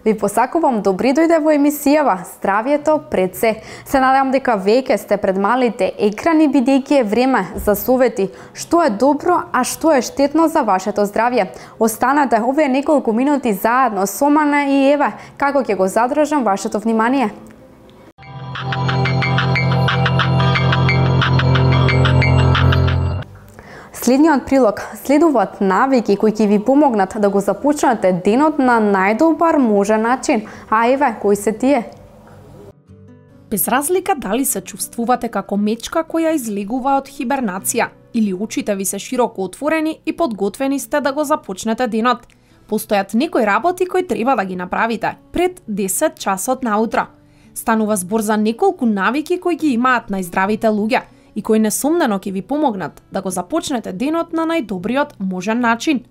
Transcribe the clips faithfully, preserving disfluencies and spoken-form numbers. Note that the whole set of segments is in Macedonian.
Ви посакувам добри дојде во емисијава Здравјето пред се. Се надевам дека веќе сте пред малите екрани, бидејќи е време за совети што е добро, а што е штетно за вашето здравје. Останете овие неколку минути заедно со мене и еве како ќе го задржам вашето внимание. Следниот прилог следуваат навики кои ќе ви помогнат да го започнете денот на најдобар можен начин. А еве, кои се тие? Без разлика дали се чувствувате како мечка која излегува од хибернација или очите ви се широко отворени и подготвени сте да го започнете денот, постојат некои работи кои треба да ги направите пред десет часот наутро. Станува збор за неколку навики кои ги имаат најздравите луѓе и кои несомнено ќе ви помогнат да го започнете денот на најдобриот можен начин.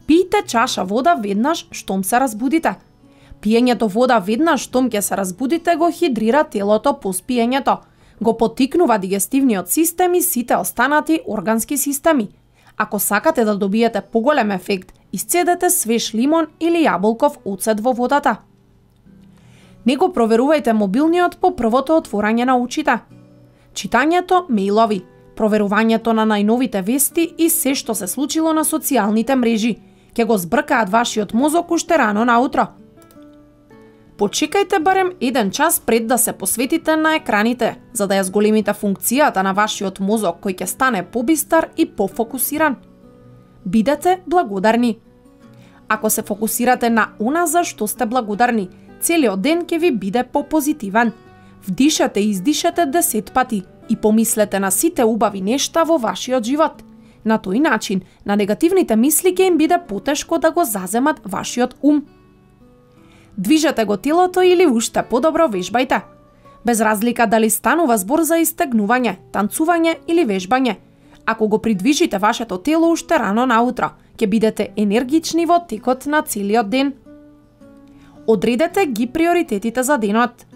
Пијте чаша вода веднаш штом се разбудите. Пиењето вода веднаш штом ќе се разбудите го хидрира телото по спиењето, го поттикнува дигестивниот систем и сите останати органски системи. Ако сакате да добиете поголем ефект, исцедете свеж лимон или јаболков оцет во водата. Не го проверувајте мобилниот по првото отворање на очите. Читањето мејлови, проверувањето на најновите вести и се што се случило на социјалните мрежи ќе го збркаат вашиот мозок уште рано наутро. Почекајте барем еден час пред да се посветите на екраните, за да ја зголемите функцијата на вашиот мозок кој ќе стане побистар и пофокусиран. Бидете благодарни. Ако се фокусирате на она за што сте благодарни, целиот ден ќе ви биде попозитивен. Вдишете и издишете десет пати и помислете на сите убави нешта во вашиот живот. На тој начин, на негативните мисли ќе им биде потешко да го заземат вашиот ум. Движете го телото или уште подобро вежбајте. Без разлика дали станува збор за истегнување, танцување или вежбање. Ако го придвижите вашето тело уште рано наутро, ќе бидете енергични во текот на целиот ден. Одредете ги приоритетите за денот.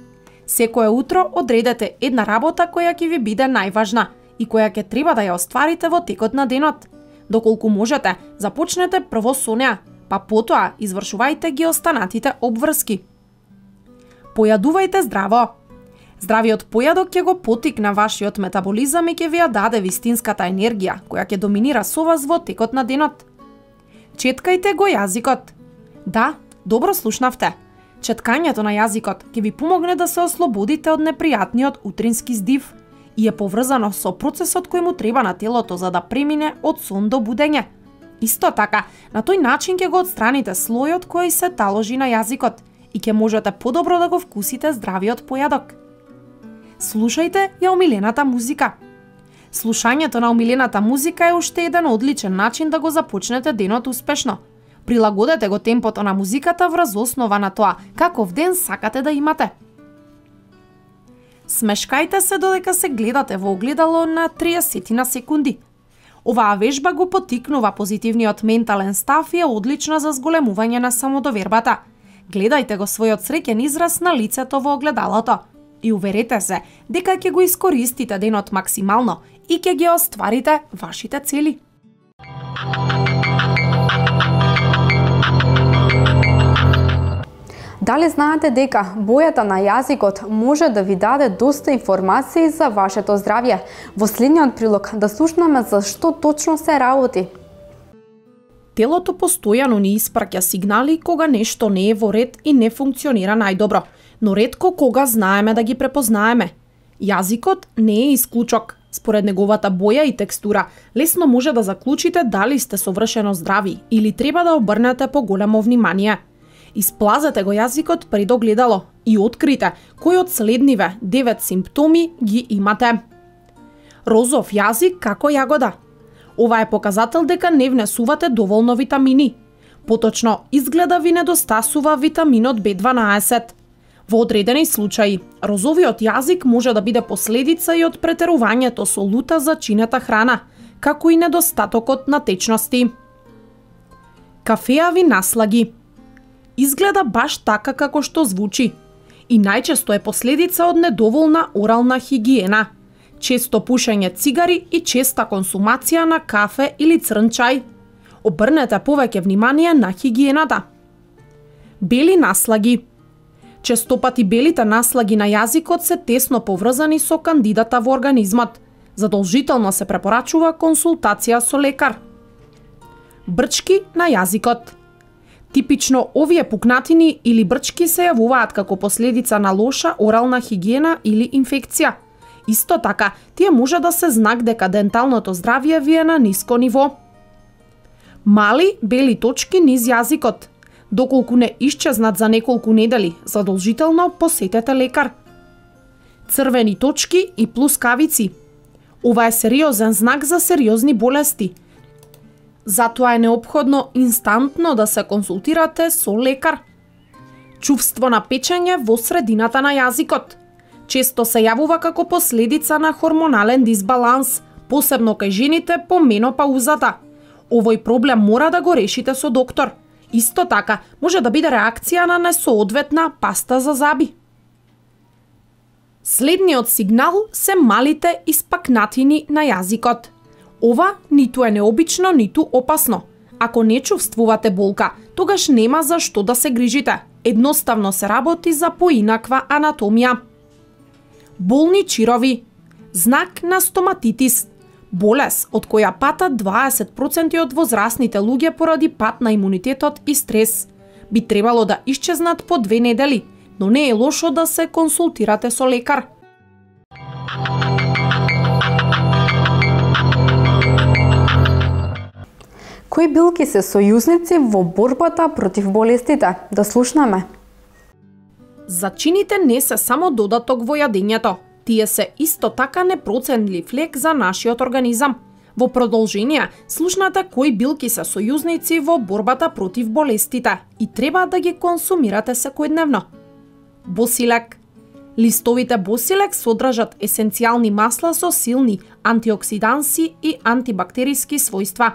Секое утро одредете една работа која ќе ви биде најважна и која ќе треба да ја остварите во текот на денот. Доколку можете, започнете прво со неа, па потоа извршувајте ги останатите обврски. Појадувајте здраво. Здравиот појадок ќе го поттикне вашиот метаболизам и ќе ви ја даде вистинската енергија која ќе доминира со вас во текот на денот. Четкајте го јазикот. Да, добро слушнавте. Четкањето на јазикот ќе ви помогне да се ослободите од непријатниот утрински здив и е поврзано со процесот кој му треба на телото за да премине од сон до будење. Исто така, на тој начин ќе го отстраните слојот кој се таложи на јазикот и ќе можете подобро да го вкусите здравиот појадок. Слушајте ја омилената музика. Слушањето на омилената музика е уште еден одличен начин да го започнете денот успешно. Прилагодете го темпото на музиката врз основа на тоа каков ден сакате да имате. Смешкајте се додека се гледате во огледало на триесет на секунди. Оваа вежба го поттикнува позитивниот ментален став и е одлична за зголемување на самодовербата. Гледајте го својот среќен израз на лицето во огледалото и уверете се дека ќе го искористите денот максимално и ќе ги остварите вашите цели. Дали знаете дека бојата на јазикот може да ви даде доста информации за вашето здравје? Во следниот прилог да слушнеме за што точно се работи. Телото постојано ни испраќа сигнали кога нешто не е во ред и не функционира најдобро, но ретко кога знаеме да ги препознаеме. Јазикот не е исклучок. Според неговата боја и текстура, лесно може да заклучите дали сте совршено здрави или треба да обрнете поголемо внимание. Исплазете го јазикот пред огледало и открите кој од следниве девет симптоми ги имате. Розов јазик како јагода. Ова е показател дека не внесувате доволно витамини. Поточно, изгледа ви недостасува витаминот Б дванаесет. Во одредени случаи, розовиот јазик може да биде последица и од претерувањето со лута зачинета храна, како и недостатокот на течности. Кафеави наслаги. Изгледа баш така како што звучи и најчесто е последица од недоволна орална хигиена, често пушење цигари и честа консумација на кафе или црн чај. Обрнете повеќе внимание на хигиената. Бели наслаги. Честопати белите наслаги на јазикот се тесно поврзани со кандидата во организмот. Задолжително се препорачува консултација со лекар. Брчки на јазикот. Типично овие пукнатини или брчки се јавуваат како последица на лоша орална хигиена или инфекција. Исто така, тие може да се знак дека денталното здравје ви е на ниско ниво. Мали бели точки низ јазикот. Доколку не исчезнат за неколку недели, задолжително посетете лекар. Црвени точки и плускавици. Ова е сериозен знак за сериозни болести. Затоа е неопходно инстантно да се консултирате со лекар. Чувство на печење во средината на јазикот. Често се јавува како последица на хормонален дисбаланс, посебно кај жените по менопаузата. Овој проблем мора да го решите со доктор. Исто така, може да биде реакција на несоодветна паста за заби. Следниот сигнал се малите испакнатини на јазикот. Ова ниту е необично, ниту опасно. Ако не чувствувате болка, тогаш нема за што да се грижите. Едноставно се работи за поинаква анатомија. Болни чирови. Знак на стоматитис. Болест од која патат дваесет проценти од возрастните луѓе поради пат на имунитетот и стрес. Би требало да исчезнат по две недели, но не е лошо да се консултирате со лекар. Кои билки се сојузници во борбата против болестите? Да слушнеме. Зачините не се само додаток во јадењето. Тие се исто така непроценлив лек за нашиот организам. Во продолжение, слушнете кои билки се сојузници во борбата против болестите и треба да ги консумирате секојдневно. Босилек. Листовите босилек содржат есенцијални масла со силни антиоксиданси и антибактериски својства.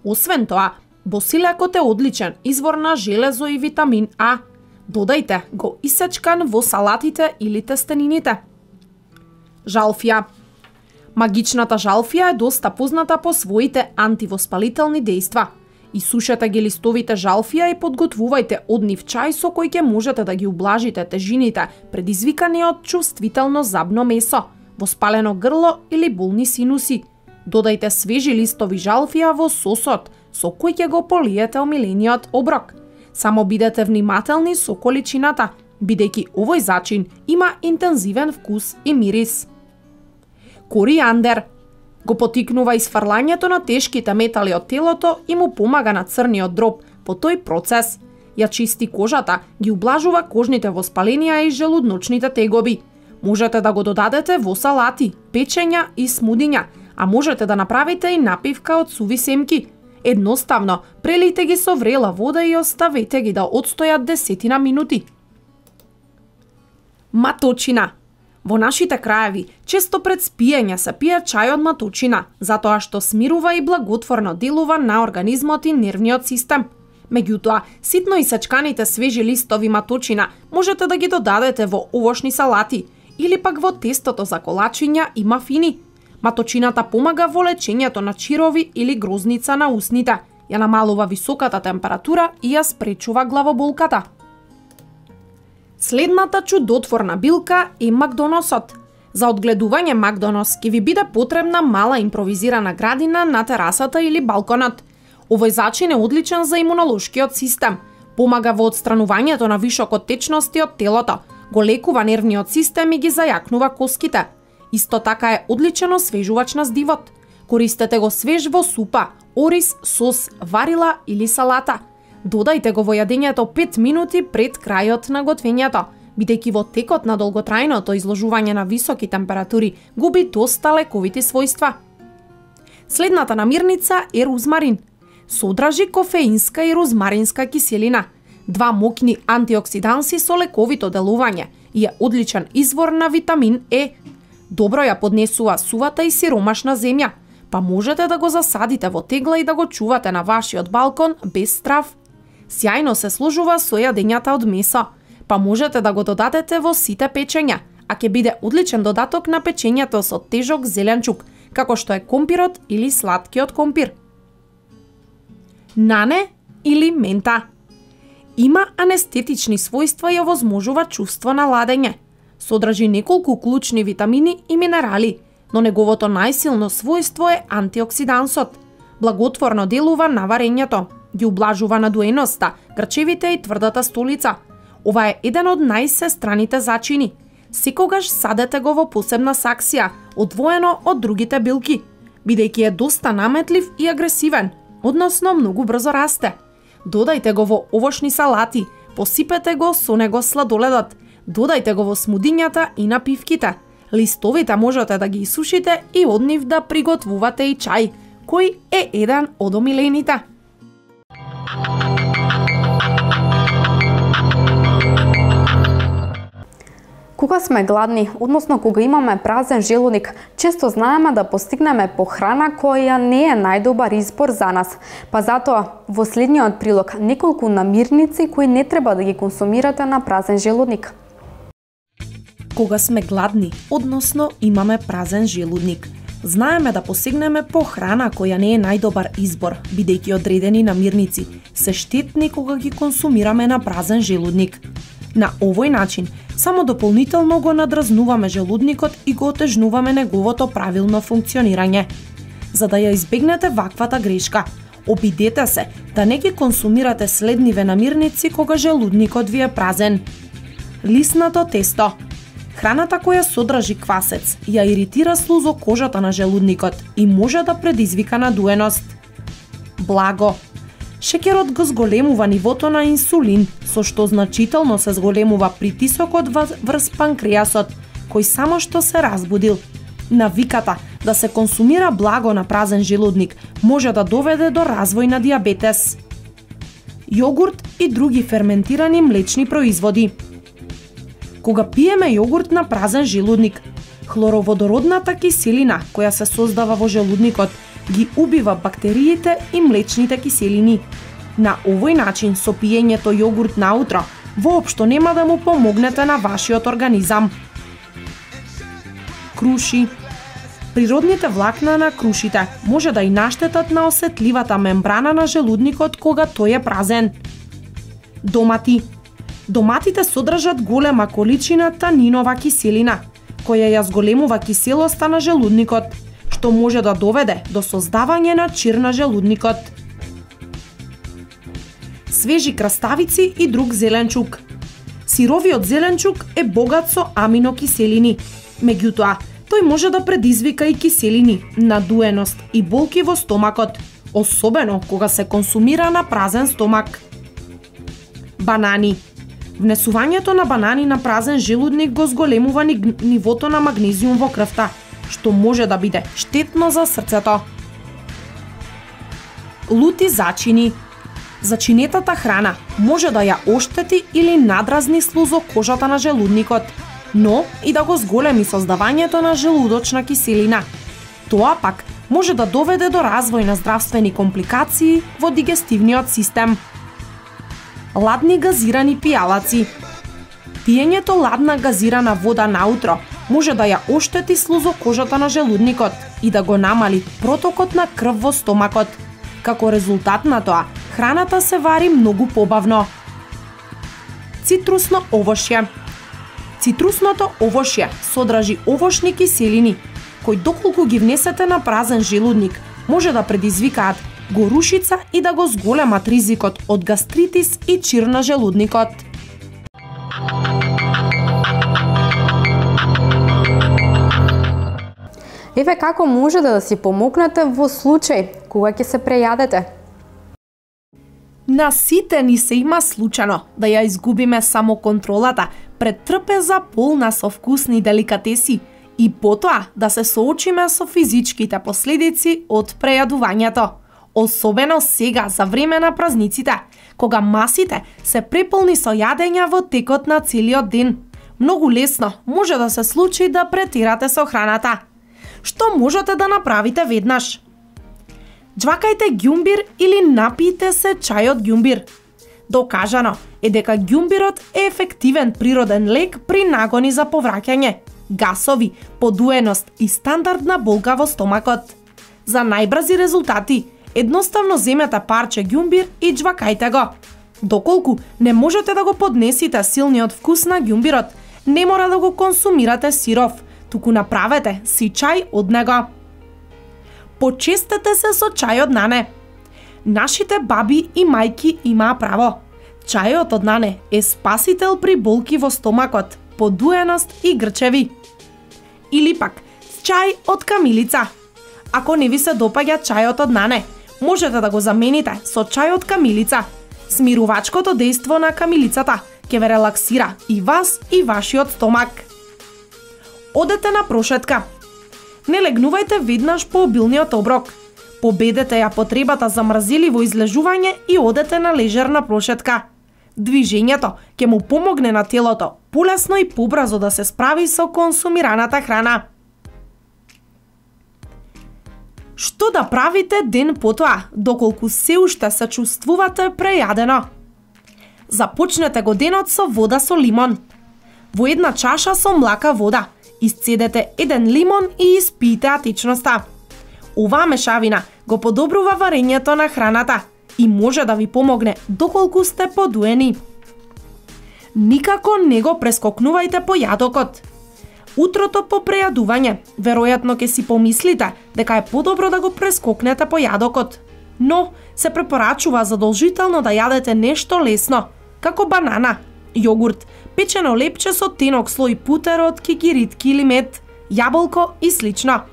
Освен тоа, босилекот е одличен извор на железо и витамин А. Додајте го исечкан во салатите или тестенините. Жалфија. Магичната жалфија е доста позната по своите антивоспалителни дејства. Исушете ги листовите жалфија и подготвувајте од нив чај со кој ќе можете да ги ублажите тежините предизвикани од чувствително забно месо, воспалено грло или болни синуси. Додајте свежи листови жалфија во сосот со кој ќе го полиете омилениот оброк. Само бидете внимателни со количината, бидејќи овој зачин има интензивен вкус и мирис. Коријандер. Го потикнува изфрлањето на тешките метали од телото и му помага на црниот дроб по тој процес. Ја чисти кожата, ги ублажува кожните воспаленија и желудночните тегоби. Можете да го додадете во салати, печења и смудиња, а можете да направите и напивка од суви семки. Едноставно, прелите ги со врела вода и оставете ги да одстојат десетина минути. Маточина. Во нашите краеви, често пред спиење се пие чај од маточина, затоа што смирува и благотворно делува на организмот и нервниот систем. Меѓутоа, ситно исечканите свежи листови маточина можете да ги додадете во овошни салати или пак во тестото за колачиња и мафини. Маточината помага во лечењето на чирови или грозница на усните, ја намалува високата температура и ја спречува главоболката. Следната чудотворна билка е макдоносот. За одгледување макдонос ќе ви биде потребна мала импровизирана градина на терасата или балконот. Овој зачин е одличен за имунолошкиот систем, помага во отстранувањето на вишок од течности од телото, го лекува нервниот систем и ги зајакнува коските. Исто така е одличен освежувач на здивот. Користете го свеж во супа, ориз, сос, варила или салата. Додајте го во јадењето пет минути пред крајот на готвењето, бидејќи во текот на долготрајното изложување на високи температури губи доста лековити својства. Следната намирница е розмарин. Содржи кофеинска и розмаринска киселина, два моќни антиоксиданси со лековито делување и е одличен извор на витамин Е. Добро ја поднесува сувата и сиромашна земја, па можете да го засадите во тегла и да го чувате на вашиот балкон без страв. Сјајно се служува со јадењата од месо, па можете да го додадете во сите печења, а ќе биде одличен додаток на печењето со тежок зеленчук, како што е компирот или сладкиот компир. Нане или мента. Има анестетични својства и овозможува чувство на ладење. Содржи неколку клучни витамини и минерали, но неговото најсилно својство е антиоксидансот. Благотворно делува на варењето, ги ублажува надуеноста, грчевите и тврдата столица. Ова е еден од најсестраните зачини. Секогаш садете го во посебна саксија, одвоено од другите билки, бидејќи е доста наметлив и агресивен, односно многу брзо расте. Додајте го во овошни салати, посипете го со него сладоледот, додајте го во смудињата и напивките. Листовите можете да ги исушите и од нив да приготвувате и чај, кој е еден од омилените. Кога сме гладни, односно кога имаме празен желудник, често знаеме да постигнеме похрана која не е најдобар избор за нас. Па затоа во следниот прилог неколку намирници кои не треба да ги консумирате на празен желудник. Кога сме гладни, односно имаме празен желудник, знаеме да посегнеме по храна која не е најдобар избор, бидејќи одредени намирници се штетни кога ги консумираме на празен желудник. На овој начин, само дополнително го надразнуваме желудникот и го отежнуваме неговото правилно функционирање. За да ја избегнете ваквата грешка, обидете се да не ги консумирате следниве намирници кога желудникот ви е празен. Лиснато тесто. Храната која содржи квасец ја иритира слузокожата на желудникот и може да предизвика надуеност. Благо. Шеќерот го зголемува нивото на инсулин, со што значително се зголемува притисокот врз панкреасот, кој само што се разбудил. Навиката да се консумира благо на празен желудник може да доведе до развој на дијабетес. Јогурт и други ферментирани млечни производи. Кога пиеме јогурт на празен желудник, хлороводородната киселина која се создава во желудникот ги убива бактериите и млечните киселини. На овој начин со пиењето јогурт наутро воопшто нема да му помогнете на вашиот организам. Круши. Природните влакна на крушите може да и наштетат на осетливата мембрана на желудникот кога тој е празен. Домати. Доматите содржат голема количина танинова киселина, која ја зголемува киселоста на желудникот, што може да доведе до создавање на чир на желудникот. Свежи краставици и друг зеленчук. Сировиот зеленчук е богат со аминокиселини, меѓутоа, тој може да предизвика и киселини, надуеност и болки во стомакот, особено кога се консумира на празен стомак. Банани. Внесувањето на банани на празен желудник го зголемува нивото на магнезиум во крвта, што може да биде штетно за срцето. Лути зачини. Зачинетата храна може да ја оштети или надразни слузокожата на желудникот, но и да го зголеми создавањето на желудочна киселина. Тоа пак може да доведе до развој на здравствени компликации во дигестивниот систем. Ладни газирани пијалаци. Пиењето ладна газирана вода наутро може да ја оштети слузокожата на желудникот и да го намали протокот на крв во стомакот. Како резултат на тоа, храната се вари многу побавно. Цитрусно овошје. Цитрусното овошје содржи овошни киселини, кои доколку ги внесете на празен желудник, може да предизвикаат горушица и да го зголемат ризикот од гастритис и чир на желудникот. Еве како можете да си помогнете во случај кога ќе се прејадете. На сите ни се има случано да ја изгубиме самоконтролата пред трпеза полна со вкусни деликатеси и потоа да се соочиме со физичките последици од прејадувањето. Особено сега за време на празниците, кога масите се преполни со јадења во текот на целиот ден. Многу лесно може да се случи да претерате со храната. Што можете да направите веднаш? Џвакајте ѓумбир или напијте се чај од ѓумбир. Докажано е дека ѓумбирот е ефективен природен лек при нагони за повраќање, гасови, подуеност и стандардна болка во стомакот. За најбрзи резултати, едноставно земете парче ѓумбир и џвакајте го. Доколку не можете да го поднесите силниот вкус на ѓумбирот, не мора да го консумирате сиров, туку направете си чај од него. Почестете се со чајот нане. Нашите баби и мајки имаа право. Чајот од нане е спасител при болки во стомакот, подуеност и грчеви. Или пак, чај од камилица. Ако не ви се допаѓа чајот од нане, можете да го замените со чај од камилица. Смирувачкото дејство на камилицата ќе ве релаксира и вас и вашиот стомак. Одете на прошетка. Не легнувајте веднаш по обилниот оброк. Победете ја потребата за мрзеливо излежување и одете на лежерна прошетка. Движењето ќе му помогне на телото полесно и побрзо да се справи со консумираната храна. Што да правите ден потоа, доколку се уште се чувствувате прејадено? Започнете го денот со вода со лимон. Во една чаша со млака вода исцедете еден лимон и испијте атичноста. Оваа мешавина го подобрува варењето на храната и може да ви помогне доколку сте подуени. Никако не го прескокнувајте појадокот. Утрото по прејадување, веројатно ќе си помислите дека е подобро да го прескокнете појадокот, но се препорачува задолжително да јадете нешто лесно, како банана, јогурт, печено лепче со тенок слој путер од кикиритки или мед, јаболко и слично.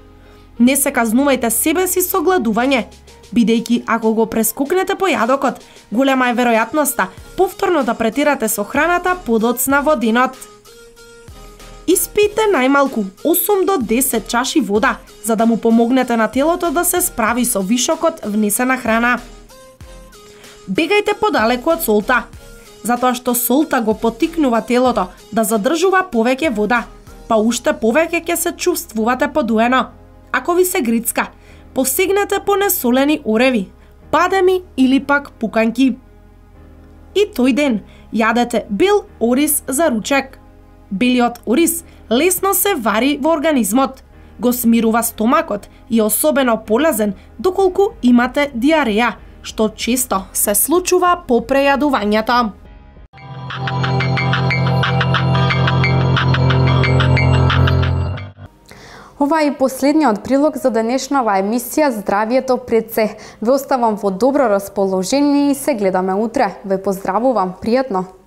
Не се казнувајте себе си со гладување, бидејќи ако го прескокнете појадокот, голема е веројатноста повторно да претирате со храната подоцна во денот. Испијте најмалку осум до десет чаши вода, за да му помогнете на телото да се справи со вишокот внесена храна. Бегајте подалеку од солта, затоа што солта го поттикнува телото да задржува повеќе вода, па уште повеќе ќе се чувствувате подуено. Ако ви се грицка, посегнете по несолени ореви, бадеми или пак пуканки. И тој ден јадете бел ориз за ручек. Белиот ориз лесно се вари во организмот, го смирува стомакот и е особено полезен доколку имате диареја, што често се случува по прејадувањето. Ова е последниот прилог за денешнава емисија Здравието пред се. Ве оставам во добро расположение и се гледаме утре. Ве поздравувам, пријатно!